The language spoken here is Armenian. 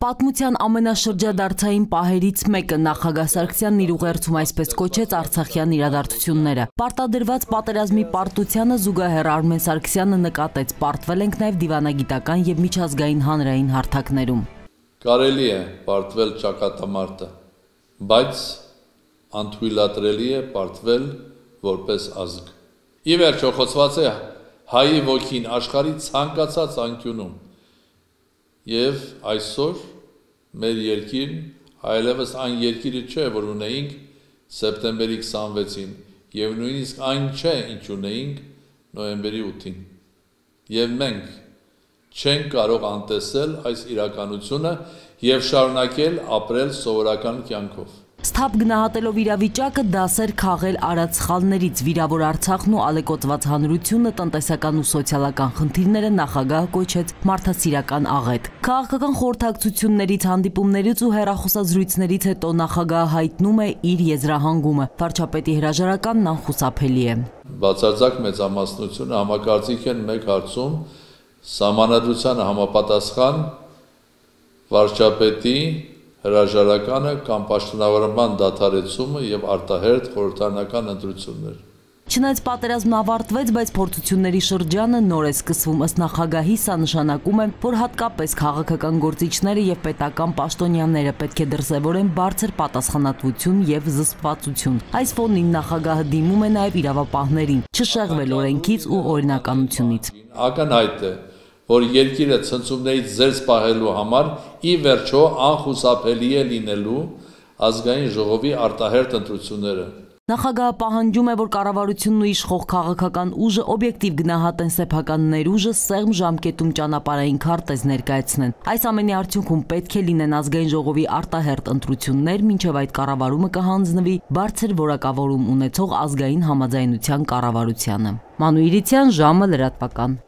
Պատմության ամենաշրջադարձային պահերից մեկը նախագահ Սարգսյանն իր ուղերձում այսպես կոչեց Արցախյան իրադարձությունները։ Պարտադրված պատերազմի պարտությանը զուգահեռ Արմեն Սարգսյանը նկատեց, պարտվել ենք նաև դիվանագիտական եւ միջազգային հանրային հարթակներում։ Կարելի է պարտվել ճակատամարտը, բայց անթույլատրելի է պարտվել որպես ազգ։ Ի վերջո խոսված է հայի ոգին աշխարհի ցանկացած անկյունում։ Եվ այսօր մեր երկիրն այլևս այն երկիրը չէ, որ ունեինք սեպտեմբերի 26-ին, եւ նույնիսկ այն չէ, ինչ ունեինք նոյեմբերի 8-ին։ Եվ մենք չենք կարող անտեսել այս իրականությունը եւ շարունակել ապրել սովորական կյանքով։ Սթափ գնահատելով իրավիճակը դասեր քաղել արած սխալներից, վիրավոր Արցախն ու ալեկոծված հանրությունը, տնտեսական ու սոցիալական խնդիրները նախագահը կոչեց մարդասիրական աղետ։ Քաղաքական խորհրդակցություններից, հանդիպումներից ու հեռախոսազրույցներից հետո նախագահը հայտնում է իր եզրահանգումը։ Վարչապետի հրաժարականն անխուսափելի է։ Բացարձակ մեծամասնությունը համակարծիք են մեկ հարցում սահմանադրությանը համապատասխան վարչապետի հրաժարականը կամ պաշտոնավարման դադարեցումը եւ արտահերթ խորհրդարանական ընտրություններ։ Չնայած պատերազմն ավարտվեց, բայց փորձությունների շրջանը նոր է սկսվում, ըստ նախագահի սա նշանակում է, որ հատկապես քաղաքական գործիչները եւ պետական պաշտոնյաները պետք է դրսեւորեն բարձր պատասխանատվություն եւ զսպվածություն։ Այս ֆոնին նախագահը դիմում է նաեւ իրավապահներին, չշեղվել օրենքից ու օրինականությունից։ Ակնհայտ է, որ երկիրը ցնցումներից զերծ պահելու համար ի վերջո անխուսափելի է լինելու ազգային ժողովի արտահերթ ընտրությունները։ Նախագահը պահանջում է, որ կառավարությունն ու իշխող քաղաքական ուժը օբյեկտիվ գնահատեն սեփական ներուժը, սեղմ ժամկետում ճանապարհային քարտեզ ներկայացնեն։ Այս ամենի արդյունքում պետք է լինեն ազգային ժողովի արտահերթ ընտրություններ, մինչև այդ կառավարումը կհանձնվի բարձր որակավորում ունեցող ազգային համաձայնության կառավարությանը։ Մանուիրիցյան, ժամը լրատվական։